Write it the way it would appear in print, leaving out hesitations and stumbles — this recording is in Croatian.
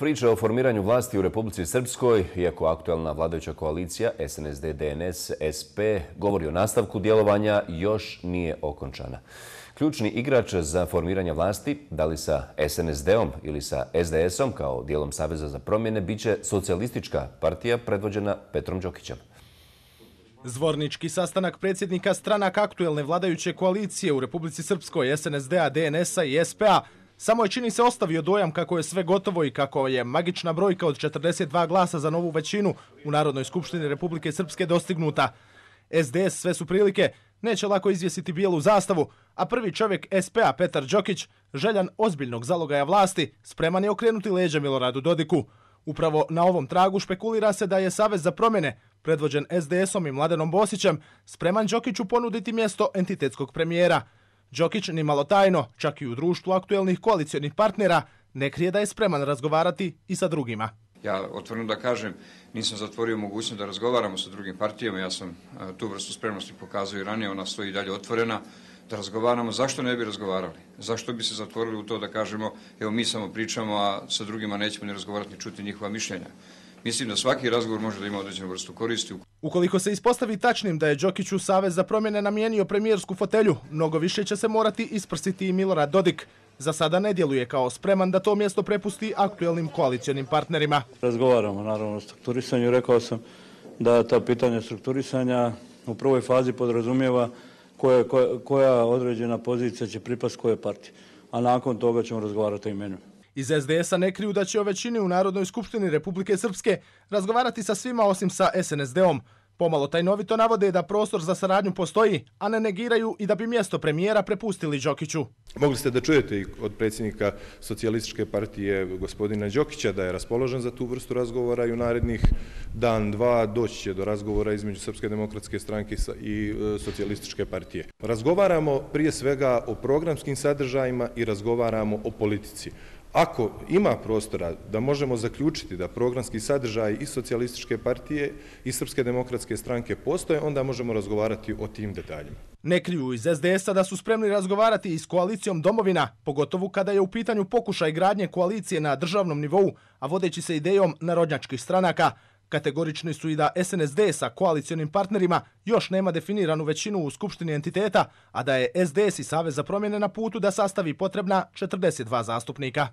Priča o formiranju vlasti u Republici Srpskoj, iako aktualna vladajuća koalicija SNSD-DNS-SP govori o nastavku djelovanja, još nije okončana. Ključni igrač za formiranje vlasti, da li sa SNSD-om ili sa SDS-om kao dijelom Saveza za promjene, biće socijalistička partija predvođena Petrom Đokićem. Zvornički sastanak predsjednika stranaka aktuelne vladajuće koalicije u Republici Srpskoj, SNSD-a, DNS-a i SP-a, samo je, čini se, ostavio dojam kako je sve gotovo i kako je magična brojka od 42 glasa za novu većinu u Narodnoj skupštini Republike Srpske dostignuta. SDS, sve su prilike, neće lako izvjesiti bijelu zastavu, a prvi čovjek SP-a Petar Đokić, željan ozbiljnog zalogaja vlasti, spreman je okrenuti leđa Miloradu Dodiku. Upravo na ovom tragu špekulira se da je Savez za promjene, predvođen SDS-om i Mladenom Bosićem, spreman Đokiću ponuditi mjesto entitetskog premijera. Đokić, ni malo tajno, čak i u društvu aktuelnih koalicionih partnera, ne krije da je spreman razgovarati i sa drugima. Ja otvoreno da kažem, nisam zatvorio mogućnost da razgovaramo sa drugim partijama, ja sam tu vrstu spremnosti pokazao i ranije, ona stoji dalje otvorena, da razgovaramo. Zašto ne bi razgovarali? Zašto bi se zatvorili u to da kažemo, evo mi samo pričamo, a sa drugima nećemo ni razgovarati ni čuti njihova mišljenja? Mislim da svaki razgovor može da ima određenu vrstu koristi. Ukoliko se ispostavi tačnim da je Đokiću Savez za promjene namijenio premijersku fotelju, mnogo više će se morati isprsiti i Milorad Dodik. Za sada ne djeluje kao spreman da to mjesto prepusti aktuelnim koalicionim partnerima. Razgovaramo naravno o strukturisanju. Rekao sam da ta pitanja strukturisanja u prvoj fazi podrazumijeva koja određena pozicija će pripasti koje partije. A nakon toga ćemo razgovarati o imenu. Iz SDS-a ne kriju da će o većini u Narodnoj skupštini Republike Srpske razgovarati sa svima osim sa SNSD-om. Pomalo tajnovito navode da prostor za saradnju postoji, a ne negiraju i da bi mjesto premijera prepustili Đokiću. Mogli ste da čujete i od predsjednika socijalističke partije gospodina Đokića da je raspoložen za tu vrstu razgovora i u narednih dan, dva doći će do razgovora između Srpske demokratske stranke i socijalističke partije. Razgovaramo prije svega o programskim sadržajima i razgovaramo o politici. Ako ima prostora da možemo zaključiti da programski sadržaj i socijalističke partije i Srpske demokratske stranke postoje, onda možemo razgovarati o tim detaljima. Ne kriju iz SDS-a da su spremni razgovarati i s koalicijom Domovina, pogotovo kada je u pitanju pokušaj gradnje koalicije na državnom nivou, a vodeći se idejom narodnjačkih stranaka. Kategorični su i da SNSD sa koalicionim partnerima još nema definiranu većinu u skupštini entiteta, a da je SDS i Savez za promjene na putu da sastavi potrebna 42 zastupnika.